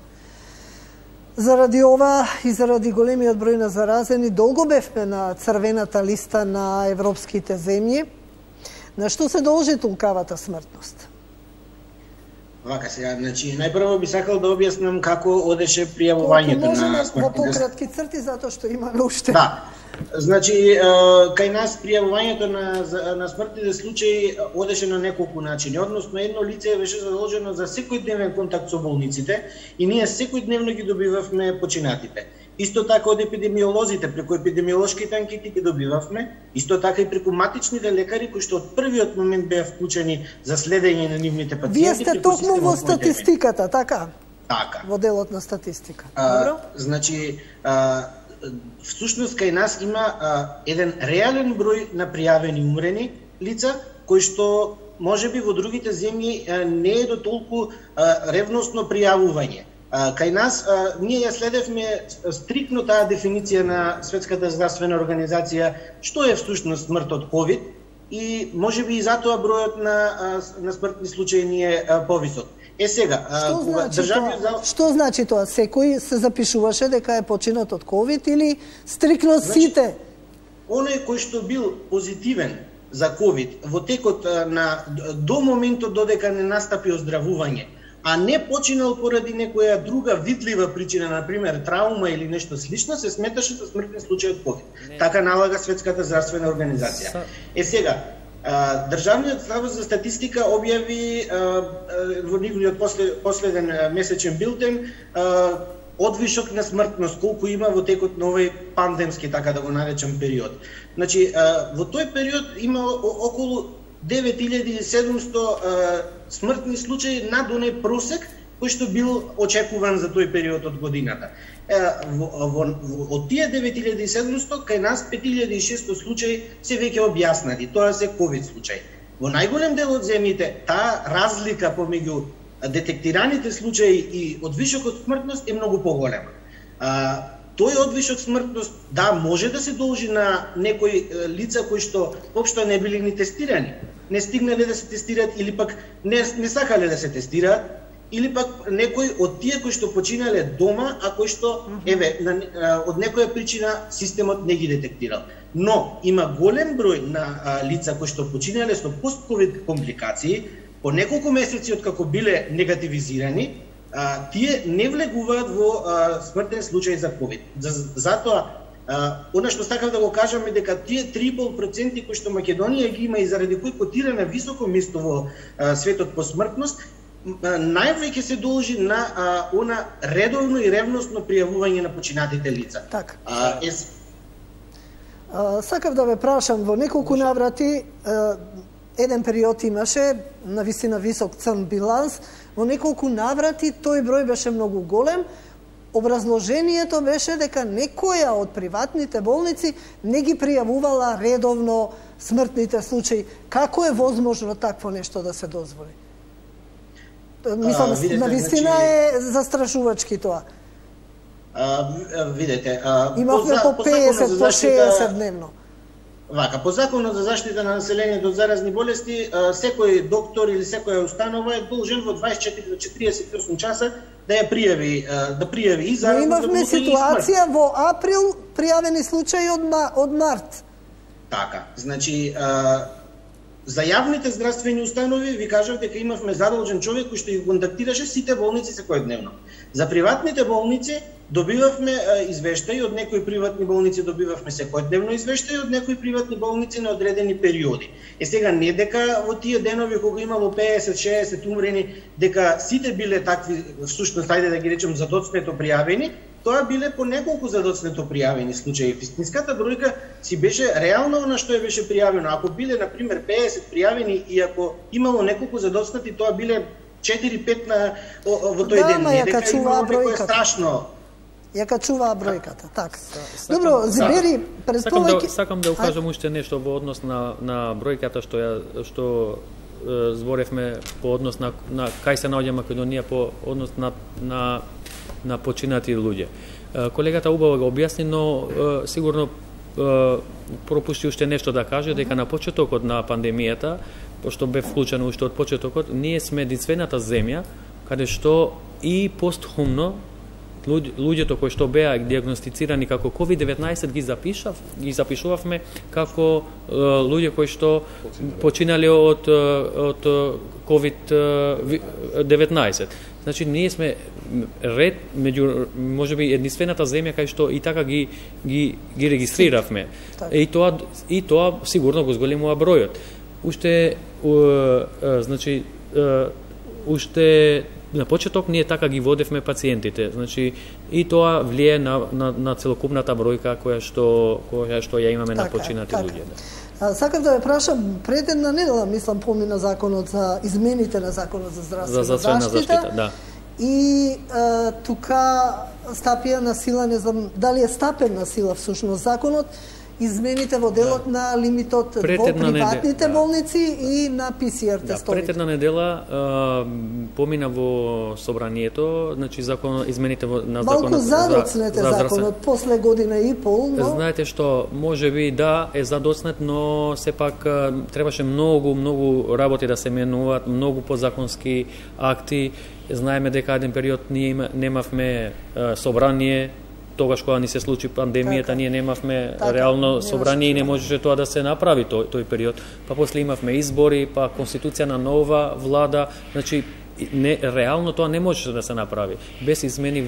Заради ова и заради големиот број на заразени, долго бевме на црвената листа на европските земји. На што се должи тункавата смртност? Вака сега, значи најпрво би сакал да објаснам како одеше пријавувањето на смртните. Во пократки црти затоа што имаме уште. Да. Значи кај нас пријавувањето на смртните случаи одеше на неколку начини. Односно едно лице беше задолжено за секојдневен контакт со болниците и ние секојдневно ги добивавме починатите. Исто така од епидемиолозите, преку епидемиолошките анкети ги добивавме, исто така и преку матичните лекари кои што од првиот момент беа вклучени за следење на нивните пациенти. Вие сте токму во статистиката, така? Така. Во делот на статистика. Добро? Значи, всушност кај нас има еден реален број на пријавени умрени лица, кои што можеби во другите земји не е до толку ревносно пријавување. Кај нас, ние ја следевме стрикно таа дефиниција на Светската здравствена организација, што е всушност смрт од COVID, и можеби и затоа бројот на смртни случаи ни е повисок. Сега, што значи тоа? Секој се запишуваше дека е починат од COVID или стрикно сите? Оној кој што бил позитивен за COVID во текот до моментот додека не настапи оздравување, а не починал поради некоја друга видлива причина, например траума или нешто слично, се сметаше за смртен случај од COVID. Така налага Светската здравствена организација. Сега, Државниот завод за статистика објави во нивниот последен месечен билтен одвишок на смртност, колку има во текот на овој пандемски, така да го наречам, период. Значи, во тој период има околу 9700 смртни случаи над оној просек кој што бил очекуван за тој период од годината. Од тие 9700 кај нас 5600 случаи се веќе објаснати, тоа се ковид случаи. Во најголем дел од земјите таа разлика помеѓу детектираните случаи и одвишокот смртност е многу поголема. Тој одвишок смртност, да, може да се должи на некои лица кои што општо не били ни тестирани, не стигнале да се тестираат или пак не сакале да се тестираат, или пак некои од тие кои што починале дома, а кои што од некоја причина системот не ги детектирал. Но има голем број на лица кои што починале со постковид компликации по неколку месеци откако биле негативизирани, тие не влегуваат во смртен случај за COVID. Затоа, она што сакав да го кажам е дека тие 3,5% кои што Македонија ги има и заради кои котира на високо место во светот по смртност, највеќе се должи на она редовно и ревносно пријавување на починатите лица. Така. Сакав да ве прашам, во неколку наврати еден период имаше навистина висок црн биланс, во неколку наврати тој број беше многу голем. Образложението беше дека некоја од приватните болници не ги пријавувала редовно смртните случаи. Како е возможно такво нешто да се дозволи? Мислам, навистина е застрашувачки тоа. Видете, имавме по 50, по 60 дневно. Вака, по Законот за заштита на населението од заразни болести, секој доктор или секоја установа е должен во 24 до 48 часа да ја пријави и заразни. Но имавме ситуација во април пријавени случаи од март. Така, значи за јавните здравствени установи ви кажав дека имавме задолжен човек кој што ги контактираше сите болници секојдневно. За приватните болници добивавме извештаи, од некои приватни болници добивавме секојдневно извештаи, од некои приватни болници на одредени периоди. Сега не дека во тие денови кога имало 50-60 умрени, дека сите биле такви, всушност ајде да ги речем задоцнето пријавени, тоа биле по неколку задоцнето пријавени случаи. Вистинската бројка си беше реално на што беше пријавено. Ако биле на пример 50 пријавени и ако имало неколку задоцнати, тоа биле 4-5 во тој ден. Не дека имало некој страшно. Ја качуваа бројката, така. Добро, Зибери, предполагајќи... Сакам да укажам уште нешто во однос на бројката што зборевме по однос на кај се наоѓа Македонија по однос на починати луѓе. Колегата убаво го објасни, но сигурно пропушти уште нешто да каже, дека на почетокот на пандемијата, пошто бе вклучено уште од почетокот, ние сме единствената земја каде што и постхумно луѓето кои што беа диагностицирани како COVID-19 ги запишувавме како луѓе кои што починале од COVID-19. Значи ние сме ред меѓу можеби единствената земја кај што и така ги регистриравме. И тоа сигурно го зголемува бројот. Уште на почеток ние така ги водевме пациентите. Значи и тоа влие на целокупната бројка која што ја имаме на починати луѓе. Сакам да ве прашам, пред една недела, мислам, помина законот за измените на законот за здравствена заштита. Да. И тука стапија на сила, не знам дали е стапен на сила всушност законот, измените во делот на лимитот во приватните болници и на ПСР тестовите. Пред една недела помина во собранието, значи измените на законот малку задоцнете законот после година и пол, но знаете што можеби да е задоцнет, но сепак требаше многу работи да се менуваат, многу подзаконски акти. Знаеме дека еден период ние немавме собрание. Тогаш кога ни се случи пандемијата, ние немавме реално собрание и не можеше тоа да се направи тој период. Па после имавме избори, па конституција на нова влада, значи реално тоа не можеше да се направи без измени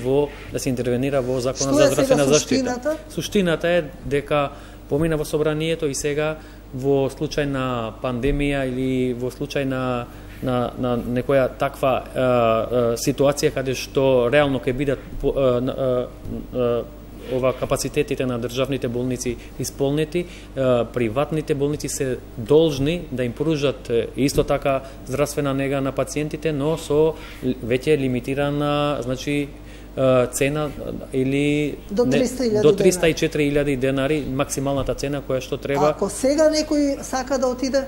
да се интервенира во законот за здравствена заштита. Суштината е дека помина во собранието и сега во случај на пандемија или во случај на некоја таква ситуација каде што реално ќе бидат капацитетите на државните болници исполнети, приватните болници се должни да им пружат исто така здравствена нега на пациентите, но со веќе лимитирана, значи цена или до 304.000 денари, максималната цена која што треба. Ако сега некој сака да отиде,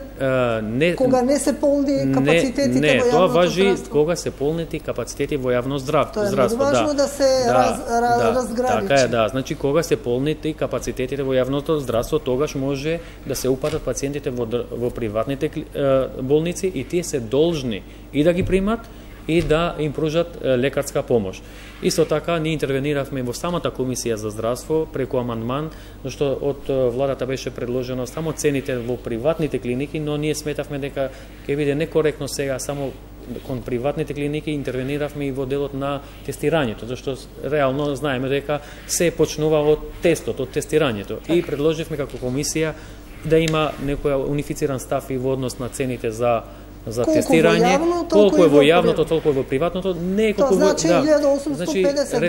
кога не се полни капацитетите во јавното тоа важи здравство? Кога се полнети капацитети во јавно здравство. Тоа е важно да се разграничи. Така е, да. Значи кога се полнети капацитетите во јавното здравство, тогаш може да се упатат пациентите во приватните болници и тие се должни и да ги примат и да им пружат лекарска помош. Исто така, ние интервениравме во самата комисија за здравство преку амандман, зашто од владата беше предложено само цените во приватните клиники, но ние сметавме дека ќе биде некоректно сега само кон приватните клиники, интервениравме и во делот на тестирањето, зашто реално знаеме дека се почнува од тестот, од тестирањето. И предложивме како комисија да има некоја унифициран став и во однос на цените за тестирање, колку е во јавното, толку е во приватното, не е колку во значи 1850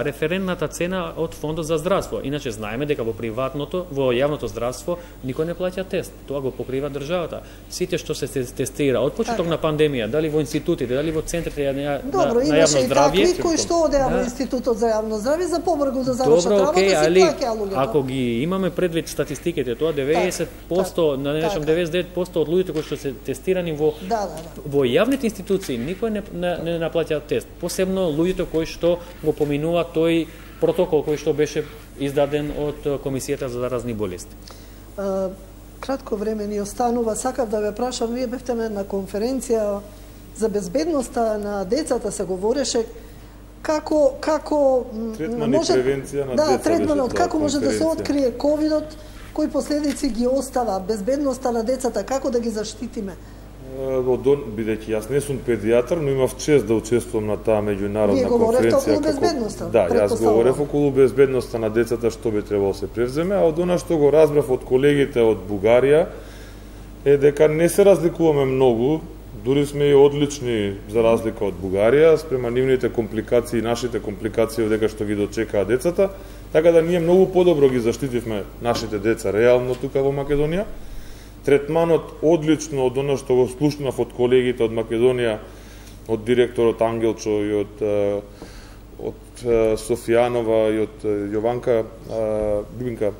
референтната цена од фондот за здравство. Иначе знаеме дека во приватното, во јавното здравство никој не плаќа тест. Тоа го покрива државата. Сите што се тестира од почеток на пандемија, дали во институтите, дали во центрите на јавно здравје. Добро, имаше и такви кои што одеа во институтот за јавно здравје за побрзо да завршат работа, си плаќаа луѓето. Ако ги имаме предвид статистиките, тоа 90%, да не речам 99% од луѓето кои што се тестирани во јавните институции, никој не наплаќа тест. Посебно луѓето кои што го поминува тој протокол кој што беше издаден од Комисијата за заразни болести. Кратко време ни останува. Сакав да ве прашам, вие бевте на една конференција за безбедноста на децата, се говореше како третман и превенција на деца. Третманот, како може да се открие ковидот, кои последици ги остава, безбедноста на децата, како да ги заштитиме? Бидејќи јас не сум педијатар, но имав чест да учествувам на таа меѓународна конференција. Вие говоревте околу безбедноста. Да, јас говорев околу безбедноста на децата, што би требало да се превземе, а од она што го разбрав од колегите од Бугарија е дека не се разликуваме многу, дури сме и одлични за разлика од Бугарија, спрема нивните компликации и нашите компликации дека што ги дочекаа децата, така да ние многу подобро ги заштитивме нашите деца реално тука во Македонија. Третманот одлично од оно што го слушнав од колегите од Македонија, од директорот Ангелчо и од Софијанова и од Јованка Бибинка,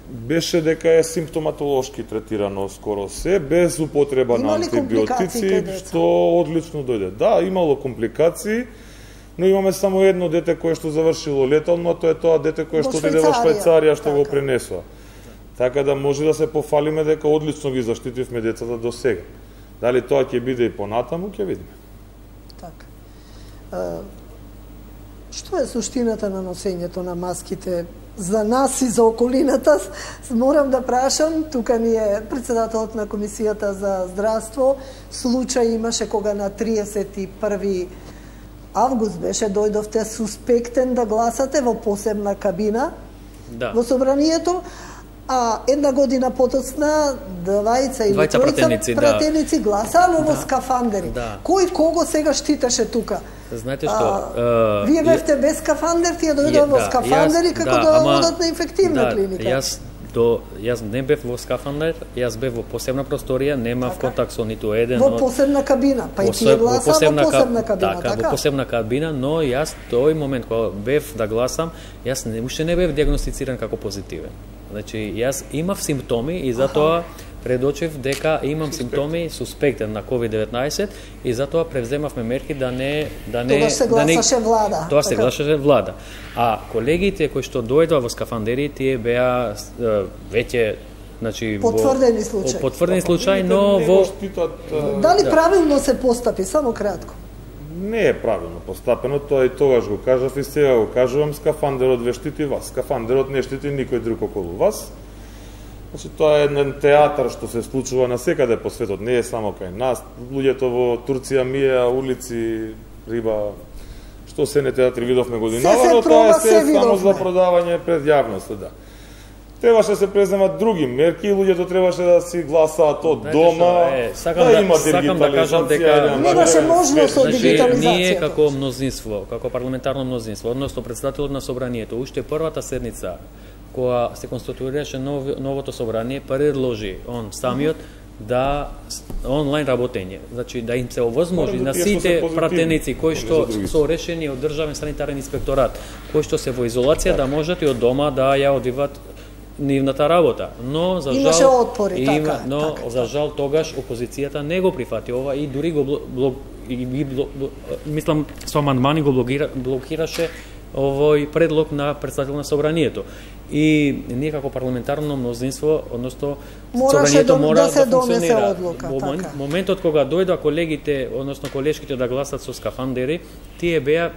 беше дека е симптоматолошки третирано скоро се, без употреба на антибиотици, што одлично дојде. Да, имало компликации, но имаме само едно дете кое што завршило летално, а тоа е тоа дете кое што отиде во Швајцарија, што го пренесува. Така да може да се пофалиме дека одлично ги заштитивме децата до сега. Дали тоа ќе биде и понатаму, ќе видиме. Така. Што е суштината на носењето на маските за нас и за околината? Морам да прашам, тука ни е председателот на Комисијата за здравство, случај имаше кога на 31 август беше, дојдовте суспектен да гласате во посебна кабина во собранието, а една година потоцна двајца или тројца пратеници гласаа, но во скафандери. Кој кого сега штитеше тука? Знаете што? Вие бевте без скафандер, тие дојдоа во скафандери како да одат на инфективна клиника. Јас не бев во скафандер, јас бев во посебна просторија, немав контакт со ниту еден. Во посебна кабина, па и тие гласаа во посебна кабина, така? Во посебна кабина, но јас тој момент кога бев да гласам, јас уште не бев диагностициран како позитивен. Значи, јас имав симптоми и затоа предочев дека имам симптоми суспектен на COVID-19 и затоа превземавме мерки да не Тогаш се гласаше влада. Тоа се гласаше влада. А колегите кои што дојдоа во скафандери, тие беа веќе потврдени случаи. Потврдени случаи, но во Дали правилно се постапи, само кратко? Не е правилно постапено, тоа и тогаш го кажав и сега го кажувам, скафандерот ве штити вас. Скафандерот не штити никој друг околу вас. Значи, тоа е еден театар што се случува насекаде по светот, не е само кај нас. Луѓето во Турција миеа улици, риба, што се не театри видовме годинава, но тоа е само за продавање пред јавноста, да. Требаше да се преземат други мерки, луѓето требаше да си гласаат од дома, да има дигитализација. Немаше можност од дигитализација. Ние како мнозинство, како парламентарно мнозинство, односно председателот на собранието, уште првата седница кога се конституираше новото собрание, предложи он самиот да онлайн работење, значи да им се овозможи на сите пратеници кои што со решени од државен санитарен инспекторат, кои што се во изолација да можат и од дома да ја одиват нивната работа, но за жал имаше отпори, така. Но за жал тогаш опозицијата не го прифати ова и дури го мислам со амандмани го блокираше овој предлог на председател на собранието. И ние како парламентарно мнозинство, односно собранието мора да функционира. Во моментот кога дојдоа колегите, односно колешките да гласат со скафандери, тие беа,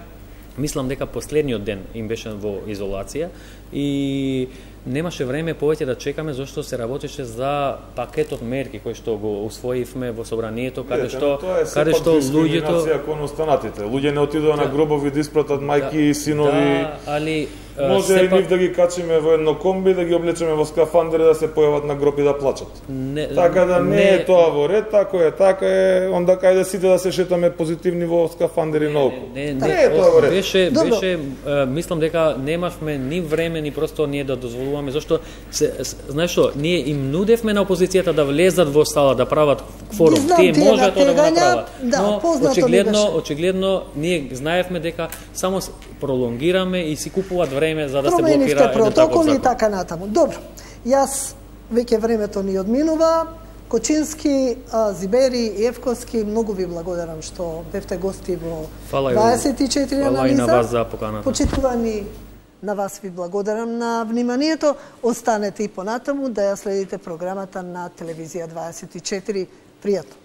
мислам дека последниот ден им беше во изолација и немаше време повеќе да чекаме зашто се работеше за пакетот мерки кој што го усвоивме во собранието, каде што луѓето кон останатите. Луѓе не отидоа на гробови да испратат мајки и синови. Али може и нив да ги качиме во едно комби, да ги облечеме во скафандери да се појават на гроб и да плачат. Така да не е тоа во ред, така е, онда кајде сите да се шетаме позитивни во скафандери наоколу. Не е тоа во ред. Беше, мислам дека немавме ни време, ни просто ние да дозволуваме, зашто знаеш што, ние им нудевме на опозицијата да влезат во сала, да прават кворум. Тие можат тоа да го направат. Но очигледно ние знаевме дека само пролонгираме и си купуваат време за да се блокира еден таков закон. протоколи и така натаму. Добро, јас веќе времето ни одминува. Кочински, Зибери, Евковски, многу ви благодарам што бевте гости во 24 анализа. Фала и на вас за поканата. Почитувани, на вас ви благодарам на вниманието. Останете и понатаму да ја следите програмата на Телевизија 24. Пријатно.